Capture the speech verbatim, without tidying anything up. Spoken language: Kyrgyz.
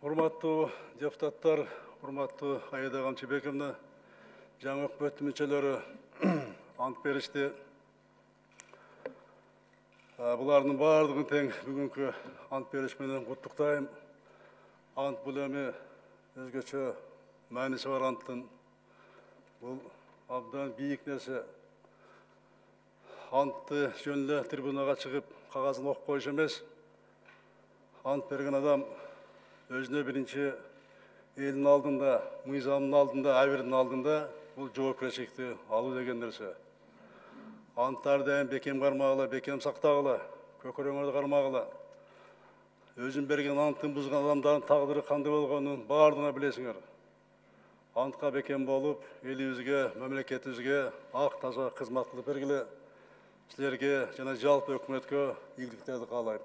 Урматтуу депутаттар, урматтуу Аида Камчыбековна, жаңы өкмөт мүчөлөрү ант беришти. Булардын баардыгын тең бүгүнкү ант бериш менен куттуктайм. Ант бул эми өзгөчө мааниси бар анттын. Бул абдан бийик нерсе. Антты жөн эле трибунага чыгып, кагазын окуп коюш эмес. Ант берген адам өзүнө биринчи элдин алдында, мыйзамдын алдында, абирдин алдында бул жоопкерчиликти алуу деген нерсе. Анттарды дайым бекем кармагыла, бекем сактагыла, көкөрөңөрдү кармагыла. Өзүн берген анттын бузган адамдардын тагдыры кандай болгонун баардыгына билесиңер. Антка бекем болуп, элибизге, мамлекетибизге ак таза кызмат кылып бергиле. Силерге жана жалпы өкмөткө ийгиликтерди каалайм.